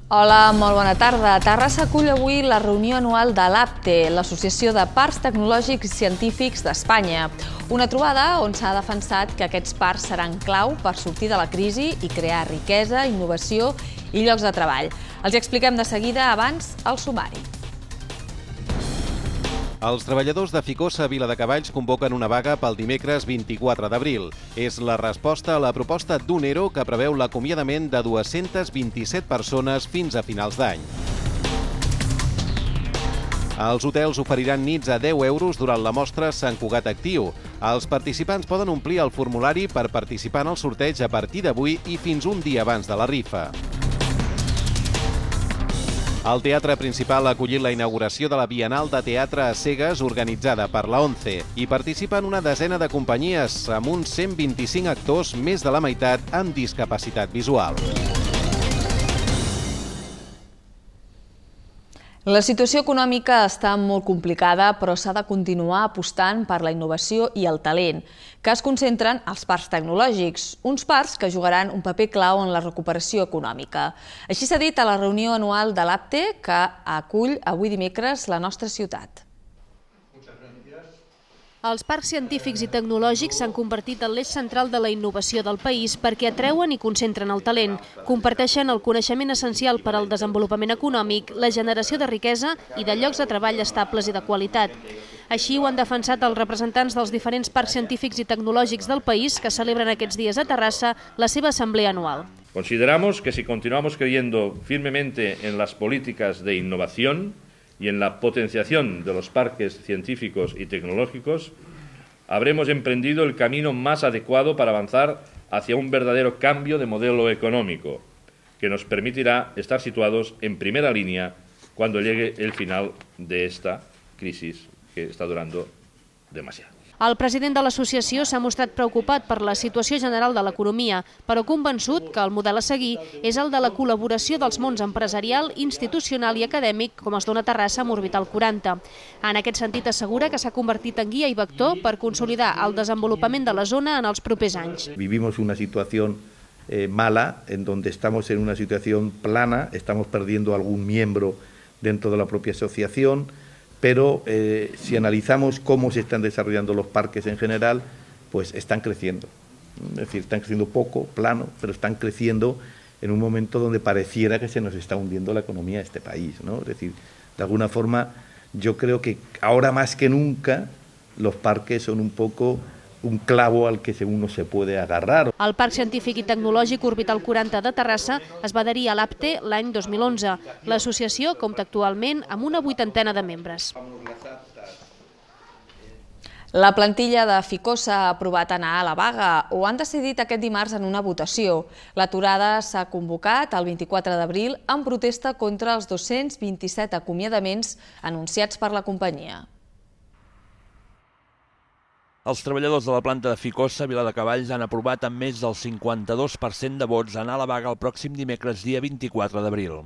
Hola, molt bona tarda. Terrassa acull avui la reunió anual de l'APTE, l'Associació de Parcs Tecnològics i Científics d'Espanya. Una trobada on s'ha defensat que aquests parcs seran clau per sortir de la crisi i crear riquesa, innovació i llocs de treball. Els hi expliquem de seguida, abans el sumari. Els treballadors de Ficosa a Viladecavalls convoquen una vaga pel dimecres 24 d'abril. És la resposta a la proposta d'un ERO que preveu l'acomiadament de 227 persones fins a finals d'any. Els hotels oferiran nits a 10 euros durant la mostra Sant Cugat Actiu. Els participants poden omplir el formulari per participar en el sorteig a partir d'avui i fins un dia abans de la rifa. El Teatre Principal ha acollit la inauguració de la Bienal de Teatre a Cegues organitzada per la ONCE. Hi participen una desena de companyies amb uns 125 actors, més de la meitat amb discapacitat visual. La situació econòmica està molt complicada, però s'ha de continuar apostant per la innovació i el talent, que es concentren als parcs tecnològics, uns parcs que jugaran un paper clau en la recuperació econòmica. Així s'ha dit a la reunió anual de l'APTE, que acull avui dimecres la nostra ciutat. Els parcs científics i tecnològics s'han convertit en l'eix central de la innovació del país perquè atreuen i concentren el talent, comparteixen el coneixement essencial per al desenvolupament econòmic, la generació de riquesa i de llocs de treball estables i de qualitat. Així ho han defensat els representants dels diferents parcs científics i tecnològics del país que celebren aquests dies a Terrassa la seva assemblea anual. Consideramos que si continuamos creyendo firmemente en las políticas de innovación y en la potenciación de los parques científicos y tecnológicos, habremos emprendido el camino más adecuado para avanzar hacia un verdadero cambio de modelo económico, que nos permitirá estar situados en primera línea cuando llegue el final de esta crisis que está durando demasiado. El president de l'associació s'ha mostrat preocupat per la situació general de l'economia, però convençut que el model a seguir és el de la col·laboració dels mons empresarial, institucional i acadèmic, com es dona a Terrassa amb Orbital 40. En aquest sentit assegura que s'ha convertit en guia i vector per consolidar el desenvolupament de la zona en els propers anys. Vivimos una situación mala, en donde estamos en una situación plana, estamos perdiendo algún miembro dentro de la propia asociación, pero si analizamos cómo se están desarrollando los parques en general, pues están creciendo. Es decir, están creciendo poco, plano, pero están creciendo en un momento donde pareciera que se nos está hundiendo la economía de este país, ¿no? Es decir, de alguna forma, yo creo que ahora más que nunca los parques son un poco un clavo al que uno se puede agarrar. El Parc Científic i Tecnològic Orbital 40 de Terrassa es va adherir a l'APTE l'any 2011. L'associació compta actualment amb una 80ena de membres. La plantilla de Ficosa ha aprovat anar a la vaga o han decidit aquest dimarts en una votació. L'aturada s'ha convocat el 24 d'abril en protesta contra els 227 acomiadaments anunciats per la companyia. Els treballadors de la planta de Ficosa a Viladecavalls han aprovat amb més del 52% de vots anar a la vaga el pròxim dimecres dia 24 d'abril.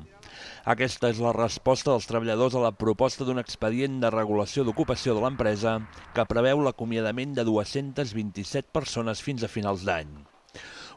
Aquesta és la resposta dels treballadors a la proposta d'un expedient de regulació d'ocupació de l'empresa que preveu l'acomiadament de 227 persones fins a finals d'any.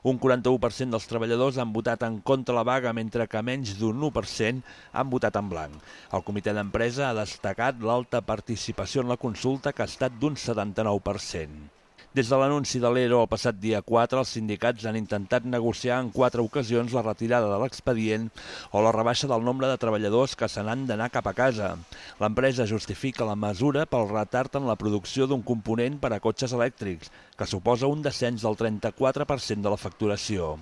Un 41% dels treballadors han votat en contra la vaga, mentre que menys d'un 1% han votat en blanc. El comitè d'empresa ha destacat l'alta participació en la consulta, que ha estat d'un 79%. Des de l'anunci de l'ERO el passat dia 4, els sindicats han intentat negociar en 4 ocasions la retirada de l'expedient o la rebaixa del nombre de treballadors que se n'han d'anar cap a casa. L'empresa justifica la mesura pel retard en la producció d'un component per a cotxes elèctrics, que suposa un descens del 34% de la facturació.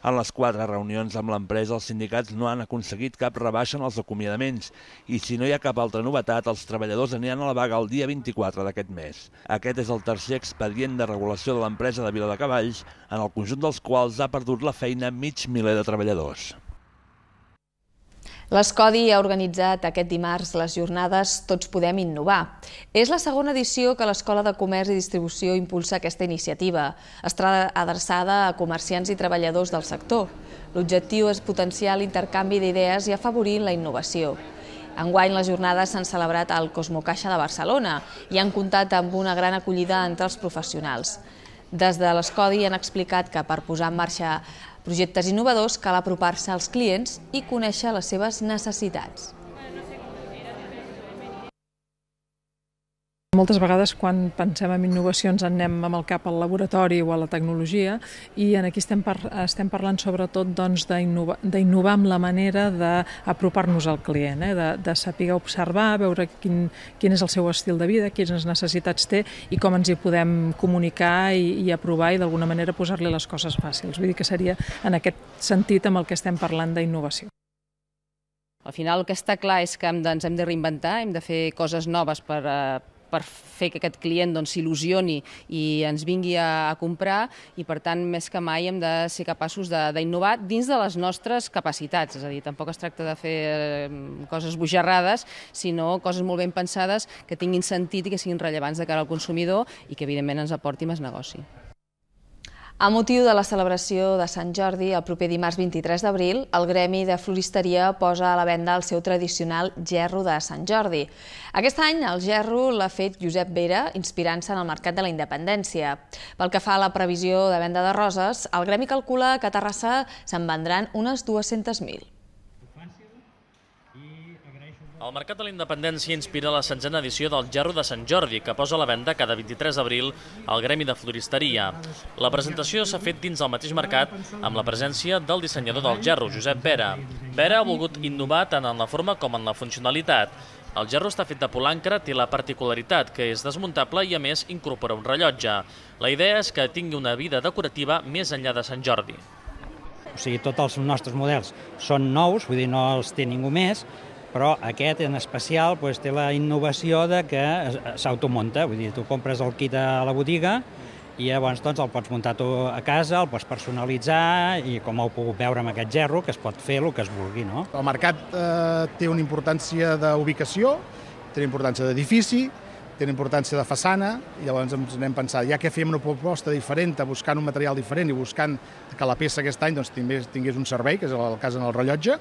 En les 4 reunions amb l'empresa, els sindicats no han aconseguit cap rebaixa en els acomiadaments i, si no hi ha cap altra novetat, els treballadors aniran a la vaga el dia 24 d'aquest mes. Aquest és el tercer expedient de regulació de l'empresa de Viladecavalls, en el conjunt dels quals ha perdut la feina mig miler de treballadors. L'Escodi ha organitzat aquest dimarts les jornades Tots Podem Innovar. És la segona edició que l'Escola de Comerç i Distribució impulsa aquesta iniciativa. Estarà adreçada a comerciants i treballadors del sector. L'objectiu és potenciar l'intercanvi d'idees i afavorir la innovació. Enguany les jornades s'han celebrat al Cosmocaixa de Barcelona i han comptat amb una gran acollida entre els professionals. Des de l'Escodi han explicat que per posar en marxa projectes innovadors cal apropar-se als clients i conèixer les seves necessitats. Moltes vegades quan pensem en innovacions anem amb el cap al laboratori o a la tecnologia i aquí estem parlant sobretot d'innovar amb la manera d'apropar-nos al client, de saber observar, veure quin és el seu estil de vida, quines necessitats té i com ens hi podem comunicar i aprovar i d'alguna manera posar-li les coses fàcils. Vull dir que seria en aquest sentit amb el que estem parlant d'innovació. Al final el que està clar és que ens hem de reinventar, hem de fer coses noves per fer que aquest client s'il·lusioni i ens vingui a comprar i, per tant, més que mai hem de ser capaços d'innovar dins de les nostres capacitats. És a dir, tampoc es tracta de fer coses bojarrades, sinó coses molt ben pensades que tinguin sentit i que siguin rellevants de cara al consumidor i que, evidentment, ens aporti més negoci. A motiu de la celebració de Sant Jordi, el proper dimarts 23 d'abril, el Gremi de Floristeria posa a la venda el seu tradicional gerro de Sant Jordi. Aquest any el gerro l'ha fet Josep Vera, inspirant-se en el Mercat de la Independència. Pel que fa a la previsió de venda de roses, el Gremi calcula que a Terrassa se'n vendran unes 200.000. El Mercat de la Independència inspira la 16a edició del Gerro de Sant Jordi, que posa a la venda cada 23 d'abril al Gremi de Floristeria. La presentació s'ha fet dins del mateix mercat amb la presència del dissenyador del gerro, Josep Vera. Vera ha volgut innovar tant en la forma com en la funcionalitat. El gerro està fet de polancre, té la particularitat que és desmuntable i, a més, incorpora un rellotge. La idea és que tingui una vida decorativa més enllà de Sant Jordi. O sigui, tots els nostres models són nous, vull dir, no els té ningú més, però aquest en especial té la innovació de que s'automunta, vull dir, tu compres el kit a la botiga i llavors el pots muntar tu a casa, el pots personalitzar i com heu pogut veure amb aquest gerro, que es pot fer el que es vulgui, no? El mercat té una importància d'ubicació, té una importància d'edifici, té una importància de façana, i llavors ens anem pensant, ja que fem una proposta diferent, buscant un material diferent i buscant que la peça aquest any tingués un servei, que és el cas en el rellotge,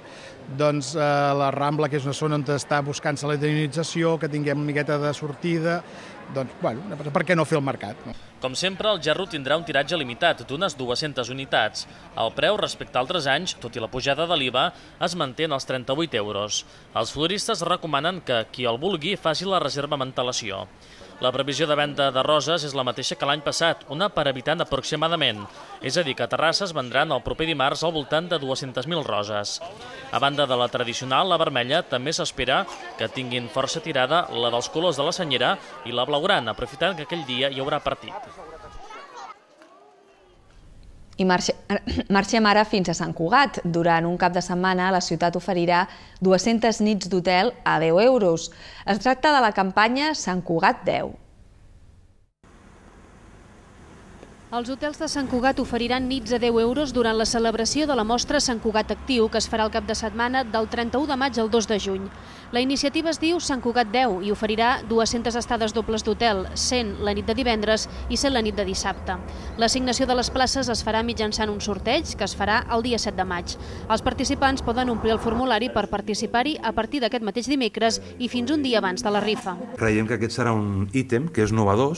doncs la Rambla, que és una zona on està buscant-se la dinamització, que tinguem una miqueta de sortida, doncs, bueno, per què no fer el mercat? Com sempre, el gerro tindrà un tiratge limitat d'unes 200 unitats. El preu, respecte a altres anys, tot i la pujada de l'IVA, es manté en els 38 euros. Els floristes recomanen que qui el vulgui faci la reserva amb antelació. La previsió de venda de roses és la mateixa que l'any passat, una per habitant aproximadament. És a dir, que a Terrassa es vendran el proper dimarts al voltant de 200.000 roses. A banda de la tradicional, la vermella, també s'espera que tinguin força tirada la dels colors de la senyera i la blaugrana, aprofitant que aquell dia hi haurà partit. I marxem ara fins a Sant Cugat. Durant un cap de setmana, la ciutat oferirà 200 nits d'hotel a 10 euros. Es tracta de la campanya Sant Cugat 10. Els hotels de Sant Cugat oferiran nits a 10 euros durant la celebració de la mostra Sant Cugat Actiu, que es farà el cap de setmana del 31 de maig al 2 de juny. La iniciativa es diu Sant Cugat 10 i oferirà 200 estades dobles d'hotel, 100 la nit de divendres i 100 la nit de dissabte. L'assignació de les places es farà mitjançant un sorteig que es farà el dia 7 de maig. Els participants poden omplir el formulari per participar-hi a partir d'aquest mateix dimecres i fins un dia abans de la rifa. Creiem que aquest serà un ítem que és innovador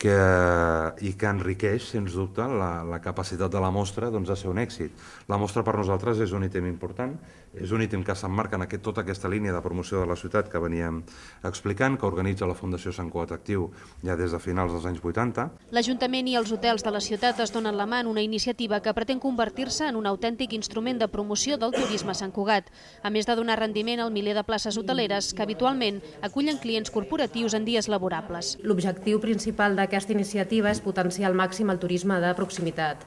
i que enriqueix, sens dubte, la capacitat de la mostra de ser un èxit. La mostra per nosaltres és un ítem important, és un ítem que s'emmarca en tota aquesta línia de promoció de la ciutat que veníem explicant, que organitza la Fundació Sant Cugat Actiu ja des de finals dels anys 80. L'Ajuntament i els hotels de la ciutat es donen la mà en una iniciativa que pretén convertir-se en un autèntic instrument de promoció del turisme a Sant Cugat, a més de donar rendiment al miler de places hoteleres que habitualment acullen clients corporatius en dies laborables. L'objectiu principal d'aquesta iniciativa és potenciar al màxim el turisme de proximitat,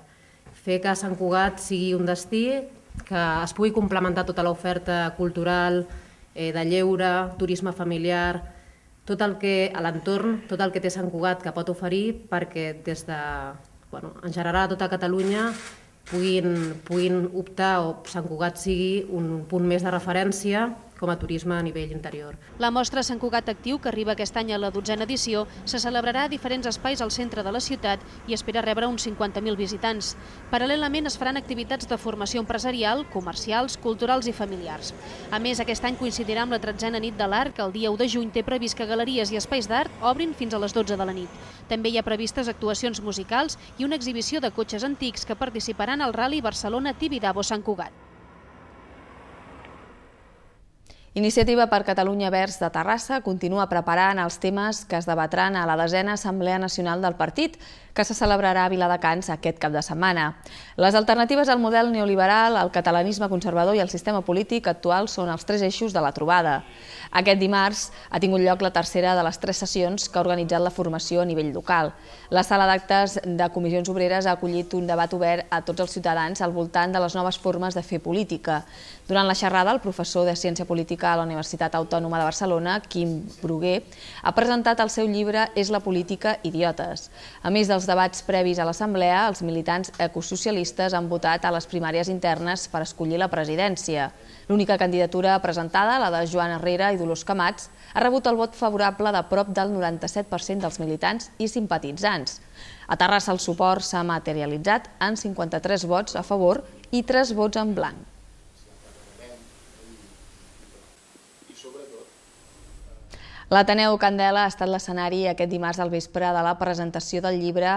fer que Sant Cugat sigui un destí que es pugui complementar tota l'oferta cultural, de lleure, turisme familiar, tot el que a l'entorn, tot el que té Sant Cugat que pot oferir perquè des de, en general a tota Catalunya puguin optar o Sant Cugat sigui un punt més de referència com a turisme a nivell interior. La mostra Sant Cugat Actiu, que arriba aquest any a la 12a edició, se celebrarà a diferents espais al centre de la ciutat i espera rebre uns 50.000 visitants. Paral·lelament es faran activitats de formació empresarial, comercials, culturals i familiars. A més, aquest any coincidirà amb la 13a nit de l'Art, que el dia 1 de juny té previst que galeries i espais d'art obrin fins a les 12 de la nit. També hi ha previstes actuacions musicals i una exhibició de cotxes antics que participaran al Rally Barcelona-Tibidabo-Sant Cugat. Iniciativa per Catalunya Verds de Terrassa continua preparant els temes que es debatran a la 10a Assemblea Nacional del Partit, que se celebrarà a Viladecans aquest cap de setmana. Les alternatives al model neoliberal, el catalanisme conservador i el sistema polític actual són els 3 eixos de la trobada. Aquest dimarts ha tingut lloc la tercera de les 3 sessions que ha organitzat la formació a nivell local. La sala d'actes de Comissions Obreres ha acollit un debat obert a tots els ciutadans al voltant de les noves formes de fer política. Durant la xerrada, el professor de Ciència Política a la Universitat Autònoma de Barcelona, Quim Bruguer, ha presentat el seu llibre És la política, idiotes. A més dels debats previs a l'Assemblea, els militants ecosocialistes han votat a les primàries internes per escollir la presidència. L'única candidatura presentada, la de Joan Herrera i Dolors Camats, ha rebut el vot favorable de prop del 97% dels militants i simpatitzants. A Terrassa el suport s'ha materialitzat en 53 vots a favor i 3 vots en blanc. L'Ateneu Candela ha estat l'escenari aquest dimarts al vespre de la presentació del llibre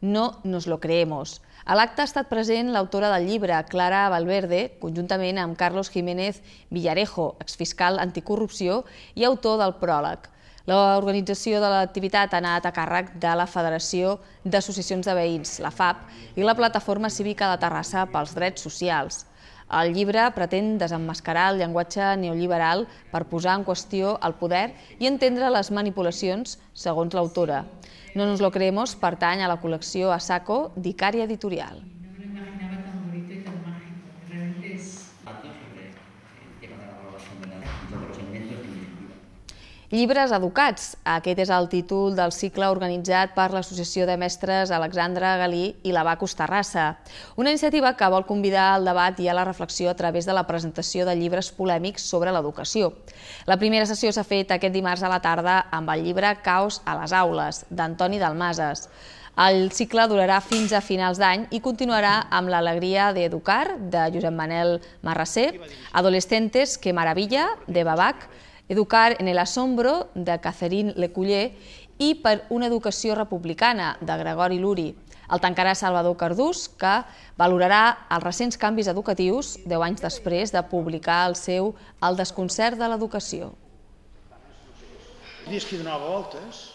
No nos lo creemos. A l'acte ha estat present l'autora del llibre, Clara Valverde, conjuntament amb Carlos Jiménez Villarejo, exfiscal anticorrupció i autor del pròleg. L'organització de l'activitat ha anat a càrrec de la Federació d'Associacions de Veïns, la FAP, i la Plataforma Cívica de Terrassa pels Drets Socials. El llibre pretén desemmascarar el llenguatge neoliberal per posar en qüestió el poder i entendre les manipulacions, segons l'autora. No nos lo creemos pertany a la col·lecció Asaco d'Icària Editorial. Llibres educats. Aquest és el títol del cicle organitzat per l'Associació de Mestres Alexandre Galí i l'Abacus Terrassa. Una iniciativa que vol convidar al debat i a la reflexió a través de la presentació de llibres polèmics sobre l'educació. La primera sessió s'ha fet aquest dimarts a la tarda amb el llibre Caos a les aules, d'Antoni Dalmases. El cicle durarà fins a finals d'any i continuarà amb l'Alegria d'Educar, de Josep Manel Marrasé, Adolescentes, que maravilla, de Babac, Educar en el asombro, de Catherine Leculler, i Per una educació republicana, de Gregori Luri. El tancarà Salvador Cardús, que valorarà els recents canvis educatius 10 anys després de publicar el seu El desconcert de l'educació. Dies que hi donava voltes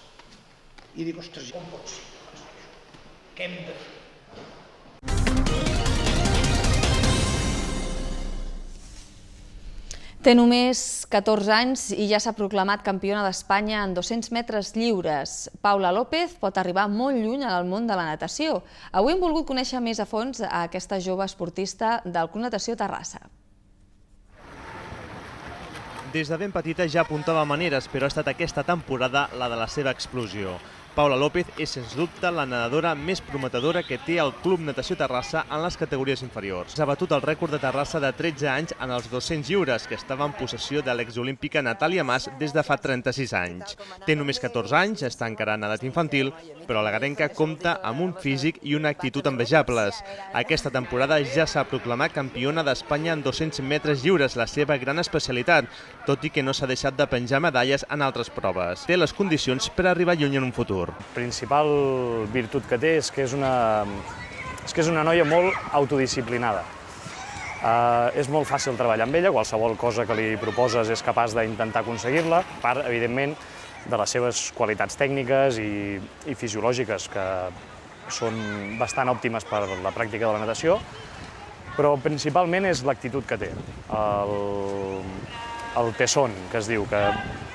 i dic, ostres, com pot ser? Què hem de fer? Té només 14 anys i ja s'ha proclamat campiona d'Espanya en 200 metres lliures. Paula López pot arribar molt lluny al món de la natació. Avui hem volgut conèixer més a fons a aquesta jove esportista del Club Natació Terrassa. Des de ben petita ja apuntava maneres, però ha estat aquesta temporada la de la seva explosió. Paula López és, sens dubte, la nedadora més prometedora que té el Club Natació Terrassa en les categories inferiors. S'ha batut el rècord de Terrassa de 13 anys en els 200 lliures, que estava en possessió de l'exolímpica Natàlia Mas des de fa 36 anys. Té només 14 anys, està encara en edat infantil, però la garenca compta amb un físic i una actitud envejables. Aquesta temporada ja s'ha proclamat campiona d'Espanya en 200 metres lliures, la seva gran especialitat, tot i que no s'ha deixat de penjar medalles en altres proves. Té les condicions per arribar lluny en un futur. La principal virtut que té és que és una noia molt autodisciplinada. És molt fàcil treballar amb ella, qualsevol cosa que li proposes és capaç d'intentar aconseguir-la, a part, evidentment, de les seves qualitats tècniques i fisiològiques, que són bastant òptimes per la pràctica de la natació, però principalment és l'actitud que té, el tesón, que es diu, que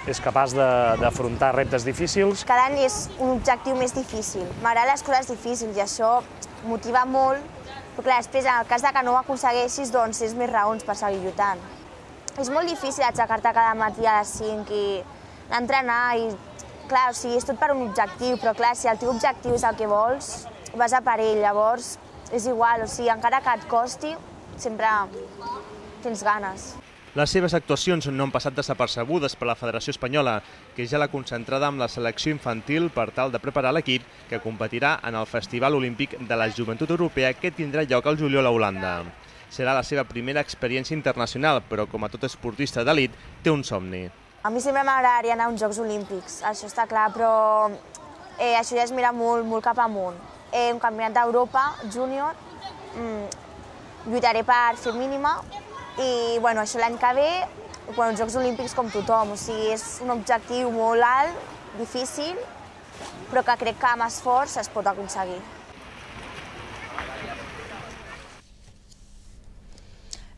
és capaç d'afrontar reptes difícils. Cada any és un objectiu més difícil. M'agraden les coses difícils i això motiva molt, però clar, després, en el cas que no ho aconsegueixis, doncs és més raons per seguir lluitant. És molt difícil aixecar-te cada matí a les 5 i anar a entrenar i, clar, o sigui, és tot per un objectiu, però clar, si el teu objectiu és el que vols, vas a per ell, llavors és igual, o sigui, encara que et costi, sempre tens ganes. Les seves actuacions no han passat desapercebudes per la Federació Espanyola, que ja l'ha concentrada amb la selecció infantil per tal de preparar l'equip que competirà en el Festival Olímpic de la Joventut Europea que tindrà lloc al juliol a Holanda. Serà la seva primera experiència internacional, però com a tot esportista d'elit, té un somni. A mi sempre m'agradaria anar a uns Jocs Olímpics, això està clar, però això ja es mira molt cap amunt. Un campionat d'Europa, júnior, lluitaré per fer mínima i això l'any que ve, uns Jocs Olímpics com tothom, o sigui, és un objectiu molt alt, difícil, però que crec que amb esforç es pot aconseguir.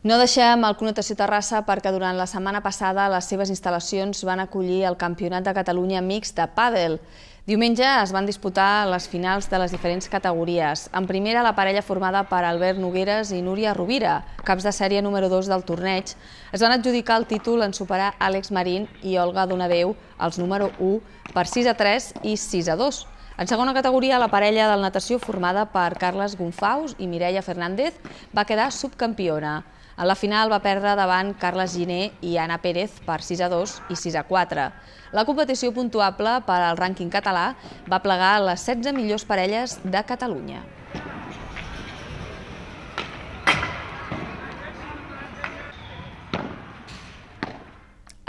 No deixem el Club Natació Terrassa perquè durant la setmana passada les seves instal·lacions van acollir el Campionat de Catalunya mixt de pàdel. Diumenge es van disputar les finals de les diferents categories. En primera, la parella formada per Albert Nogueres i Núria Rovira, caps de sèrie número 2 del torneig, es van adjudicar el títol en superar Àlex Marín i Olga Donadeu, els número 1, per 6-3 i 6-2. En segona categoria, la parella del natació formada per Carles Gonfaus i Mireia Fernández va quedar subcampiona. En la final va perdre davant Carles Giner i Anna Pérez per 6-2 i 6-4. La competició puntuable per al rànquing català va plegar les 16 millors parelles de Catalunya.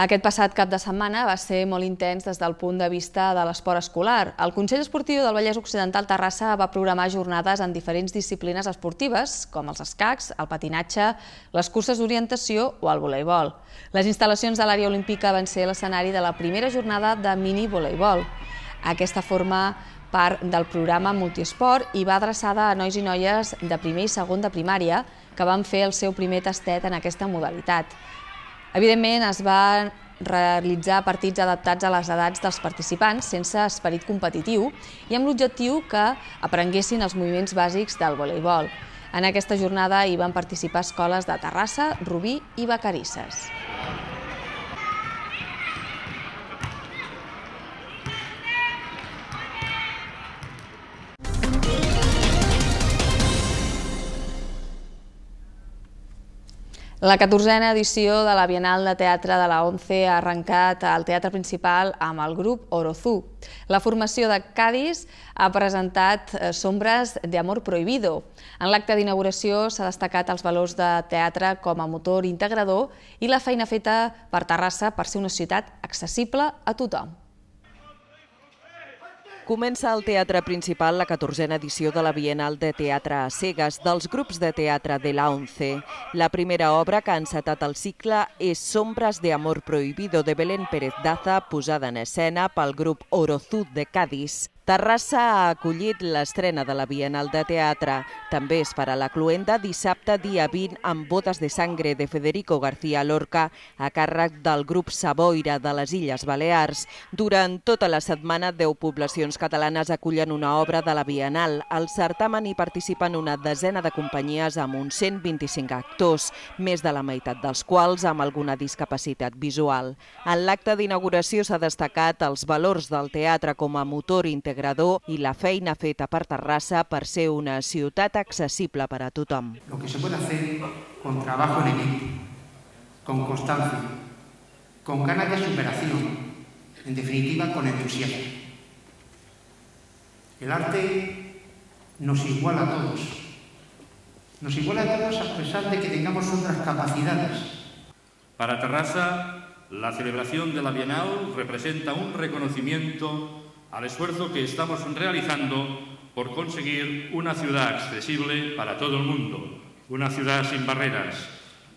Aquest passat cap de setmana va ser molt intens des del punt de vista de l'esport escolar. El Consell Esportiu del Vallès Occidental Terrassa va programar jornades en diferents disciplines esportives, com els escacs, el patinatge, les curses d'orientació o el voleibol. Les instal·lacions de l'àrea olímpica van ser l'escenari de la primera jornada de mini-voleibol. Aquesta forma part del programa Multiesport i va adreçada a nois i noies de primer i segon de primària que van fer el seu primer tastet en aquesta modalitat. Evidentment, es van realitzar partits adaptats a les edats dels participants sense esperit competitiu i amb l'objectiu que aprenguessin els moviments bàsics del voleibol. En aquesta jornada hi van participar escoles de Terrassa, Rubí i Vacarisses. La 14a edició de la Bienal de Teatre de la ONCE ha arrencat al Teatre Principal amb el grup Orozú. La formació de Cádiz ha presentat Sombras de amor prohibido. En l'acte d'inauguració s'ha destacat els valors de teatre com a motor integrador i la feina feta per Terrassa per ser una ciutat accessible a tothom. Comença al Teatre Principal la 14a edició de la Bienal de Teatre a Cegues dels grups de teatre de la ONCE. La primera obra que ha encetat el cicle és Sombras de amor prohibido de Belén Pérez Daza, posada en escena pel grup Orozú de Cádiz. Terrassa ha acollit l'estrena de la Bienal de Teatre. També es farà la cloenda dissabte dia 20 amb Bodes de sangre de Federico García Lorca a càrrec del grup Savoira de les Illes Balears. Durant tota la setmana, 10 poblacions catalanes acullen una obra de la Bienal. Al certamen hi participen una desena de companyies amb uns 125 actors, més de la meitat dels quals amb alguna discapacitat visual. En l'acte d'inauguració s'ha destacat els valors del teatre com a motor integrador i la feina feta per Terrassa per ser una ciutat accessible per a tothom. Lo que se puede hacer con trabajo en equipo, con constancia, con ganas de superación, en definitiva con entusiasmo. El arte nos iguala a todos. Nos iguala a todos a pesar de que tengamos otras capacidades. Para Terrassa, la celebración de la Bienal representa un reconocimiento al esfuerzo que estamos realizando por conseguir una ciudad accesible para todo el mundo, una ciudad sin barreras,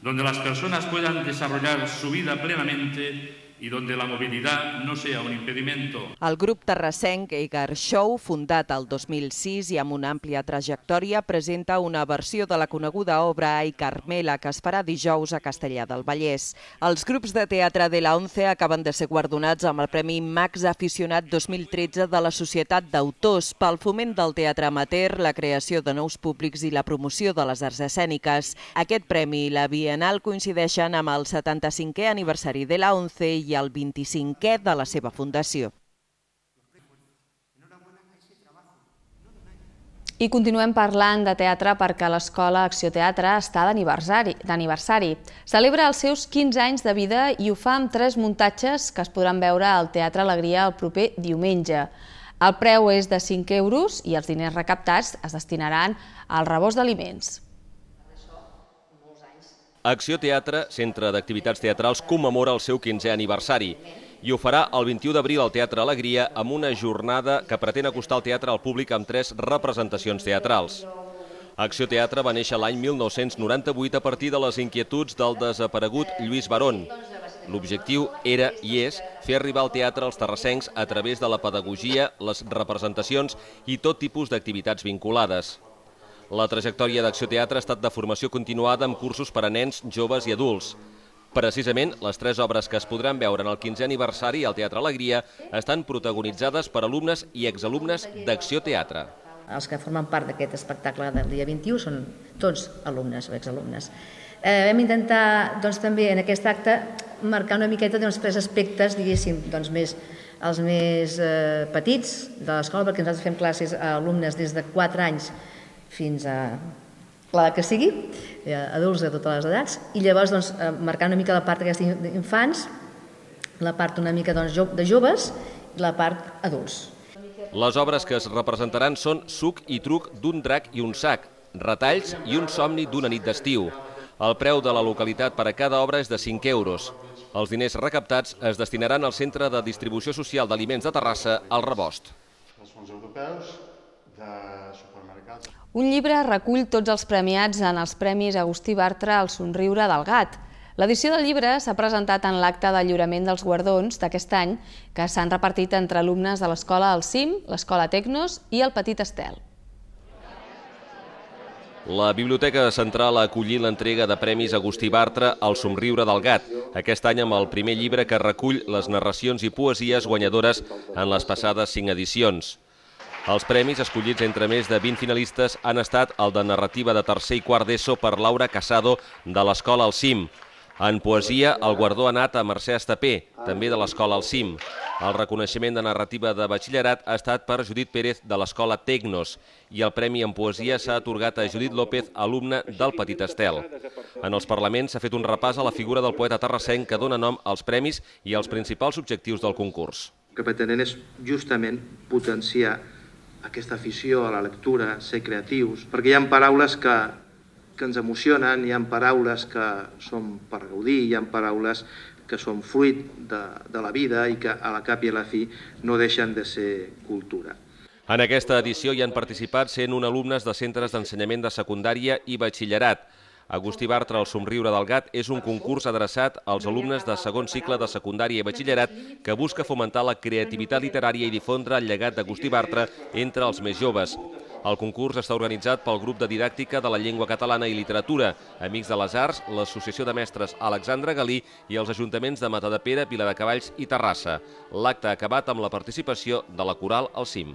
donde las personas puedan desarrollar su vida plenamente i donde la mobilitat no sea un impedimento. El grup terrassenc Egar Show, fundat el 2006 i amb una àmplia trajectòria, presenta una versió de la coneguda obra Ai Carmela, que es farà dijous a Castellar del Vallès. Els grups de teatre de la ONCE acaben de ser guardonats amb el Premi Max Aficionat 2013 de la Societat d'Autors pel foment del teatre amateur, la creació de nous públics i la promoció de les arts escèniques. Aquest premi i la Bienal coincideixen amb el 75è aniversari de la ONCE i el 25è de la seva fundació. I continuem parlant de teatre perquè l'Escola Acció Teatre està d'aniversari. Celebra els seus 15 anys de vida i ho fa amb 3 muntatges que es podran veure al Teatre Alegria el proper diumenge. El preu és de 5 euros i els diners recaptats es destinaran al rebost d'aliments. Acció Teatre, centre d'activitats teatrals, commemora el seu 15è aniversari i ho farà el 21 d'abril al Teatre Alegria amb una jornada que pretén acostar el teatre al públic amb 3 representacions teatrals. Acció Teatre va néixer l'any 1998 a partir de les inquietuds del desaparegut Lluís Barón. L'objectiu era i és fer arribar al teatre als terrassencs a través de la pedagogia, les representacions i tot tipus d'activitats vinculades. La trajectòria d'Acció Teatre ha estat de formació continuada amb cursos per a nens, joves i adults. Precisament, les 3 obres que es podran veure en el 15è aniversari al Teatre Alegria estan protagonitzades per alumnes i exalumnes d'Acció Teatre. Els que formen part d'aquest espectacle del dia 21 són tots alumnes o exalumnes. Vam intentar també en aquest acte marcar una miqueta els 3 aspectes, diguéssim, els més petits de l'escola, perquè nosaltres fem classes a alumnes des de 4 anys fins a l'edat que sigui, adults de totes les edats, i llavors marcar una mica la part d'aquests infants, la part una mica de joves i la part adults. Les obres que es representaran són Suc i truc d'un drac i un sac, Retalls i un somni d'una nit d'estiu. El preu de la localitat per a cada obra és de 5 euros. Els diners recaptats es destinaran al Centre de Distribució Social d'Aliments de Terrassa, al Rebost. Els fons europeus de supermercats. Un llibre recull tots els premiats en els Premis Agustí Bartra al somriure del gat. L'edició del llibre s'ha presentat en l'acte de lliurament dels guardons d'aquest any, que s'han repartit entre alumnes de l'Escola El Cim, l'Escola Tecnos i el Petit Estel. La Biblioteca Central ha acollit l'entrega de Premis Agustí Bartra al somriure del gat, aquest any amb el primer llibre que recull les narracions i poesies guanyadores en les passades 5 edicions. Els premis, escollits entre més de 20 finalistes, han estat el de narrativa de tercer i quart d'ESO per Laura Casado, de l'Escola El Cim. En poesia, el guardó ha anat a Mercè Estapé, també de l'Escola El Cim. El reconeixement de narrativa de batxillerat ha estat per Judit Pérez, de l'Escola Tecnos, i el premi en poesia s'ha atorgat a Judit López, alumne del Petit Estel. En els parlaments s'ha fet un repàs a la figura del poeta terrassenc que dona nom als premis i als principals objectius del concurs. El que pretenen és justament potenciar aquesta afició a la lectura, ser creatius, perquè hi ha paraules que ens emocionen, hi ha paraules que són per gaudir, hi ha paraules que són fruit de la vida i que a la cap i a la fi no deixen de ser cultura. En aquesta edició hi han participat 101 alumnes de centres d'ensenyament de secundària i batxillerat. Agustí Bartra, el somriure del gat, és un concurs adreçat als alumnes de segon cicle de secundària i batxillerat que busca fomentar la creativitat literària i difondre el llegat d'Agustí Bartra entre els més joves. El concurs està organitzat pel grup de didàctica de la llengua catalana i literatura, Amics de les Arts, l'Associació de Mestres Alexandre Galí i els ajuntaments de Matadepera, Viladecavalls i Terrassa. L'acte ha acabat amb la participació de la coral El Cim.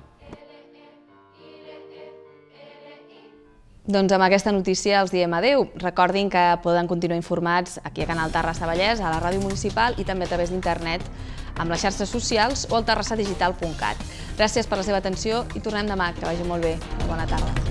Doncs amb aquesta notícia els diem adeu. Recordin que poden continuar informats aquí a Canal Terrassa Vallès, a la ràdio municipal i també a través d'internet amb les xarxes socials o al terrassadigital.cat. Gràcies per la seva atenció i tornem demà. Que vagi molt bé. Bona tarda.